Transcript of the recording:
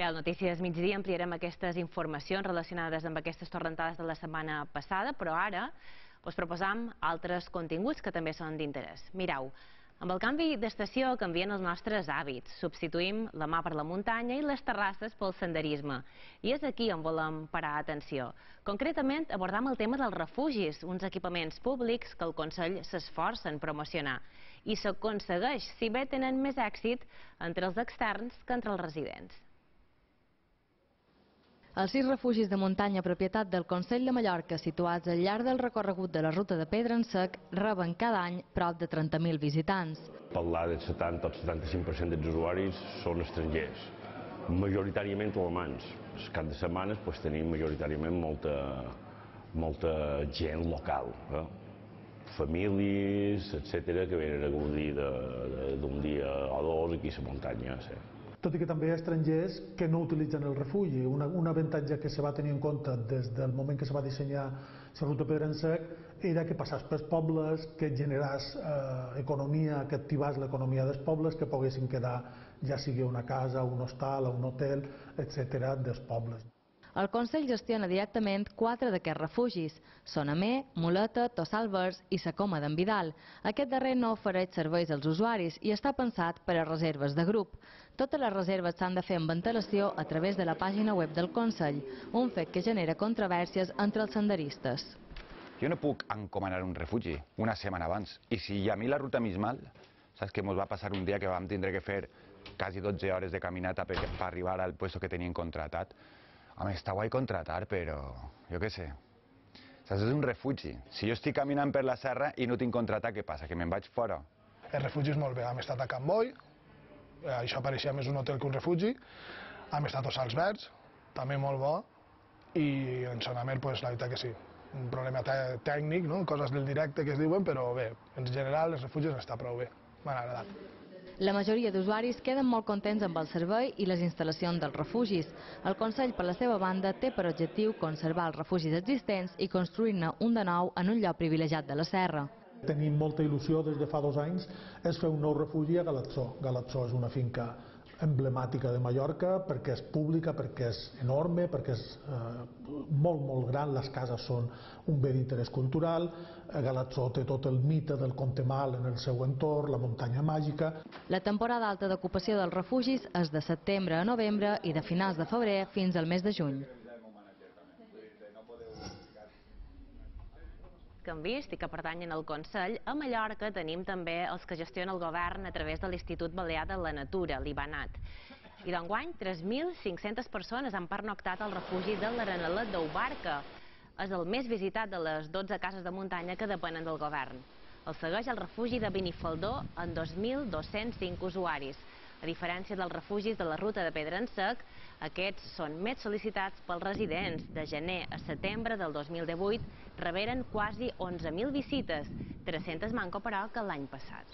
Bé, al Notícies Migdia ampliarem aquestes informacions relacionades amb aquestes torrentades de la setmana passada, però ara us proposam altres continguts que també són d'interès. Mireu, amb el canvi d'estació canvien els nostres hàbits. Substituïm la mà per la muntanya i les terrasses pel senderisme. I és aquí on volem parar atenció. Concretament, abordam el tema dels refugis, uns equipaments públics que el Consell s'esforça en promocionar. I s'aconsegueix, si bé tenen més èxit entre els externs que entre els residents. Els 6 refugis de muntanya propietat del Consell de Mallorca situats al llarg del recorregut de la ruta de Pedra en Sec reben cada any prop de 30.000 visitants. Parlar del 70 o 75% dels usuaris són estrangers, majoritàriament alemans. Els caps de setmana tenim majoritàriament molta gent local, famílies, etc., que venen a gaudir d'un dia o dos aquí a la muntanya. Tot i que també hi ha estrangers que no utilitzen el refugi. Un avantatge que se va tenir en compte des del moment que se va dissenyar la ruta Pedra en Sec era que passàs pels pobles, que generàs economia, que activàs l'economia dels pobles, que poguessin quedar, ja sigui una casa, un hostal, un hotel, etc., dels pobles. El Consell gestiona directament 4 d'aquests refugis: Sonamer, Muleta, Tossal Verds i Sa Coma d'en Vidal. Aquest darrer no ofereix serveis als usuaris i està pensat per a reserves de grup. Totes les reserves s'han de fer amb antelació a través de la pàgina web del Consell, un fet que genera controvèrsies entre els senderistes. Jo no puc encomanar un refugi una setmana abans. I si a mi la ruta m'és mal, saps que ens va passar un dia que vam tindre que fer quasi 12 hores de caminata per arribar al lloc que tenien contratat. Home, està guai contratar, però jo què sé. Saps, és un refugi. Si jo estic caminant per la serra i no tinc contratat, què passa? Que me'n vaig fora? El refugi és molt bé. Hem estat a Can Boi, això pareixia més un hotel que un refugi. Hem estat a Tossals Verds, també molt bo. I en Sonamer, la veritat que sí. Un problema tècnic, coses del directe que es diuen, però bé, en general els refugis està prou bé. M'han agradat. La majoria d'usuaris queden molt contents amb el servei i les instal·lacions dels refugis. El Consell, per la seva banda, té per objectiu conservar els refugis existents i construir-ne un de nou en un lloc privilegiat de la serra. Tenim molta il·lusió des de fa 2 anys és fer un nou refugi a Galatzó. Galatzó és una finca emblemàtica de Mallorca perquè és pública, perquè és enorme, perquè és molt gran, les cases són un bé d'interès cultural, Galatzó té tot el mite del Contemal en el seu entorn, la muntanya màgica. La temporada alta d'ocupació dels refugis és de setembre a novembre i de finals de febrer fins al mes de juny. Que hem vist i que pertanyen al Consell, a Mallorca tenim també els que gestiona el govern a través de l'Institut Balear de la Natura, l'IBANAT. I d'enguany, 3.500 persones han pernoctat al refugi de l'Arenelet d'Ubarca. És el més visitat de les 12 cases de muntanya que depenen del govern. El segueix el refugi de Benifaldó amb 2.205 usuaris. A diferència dels refugis de la ruta de Pedra en Sec, aquests són més sol·licitats pels residents. De gener a setembre del 2018 reberen quasi 11.000 visites, 300 manco però que l'any passat.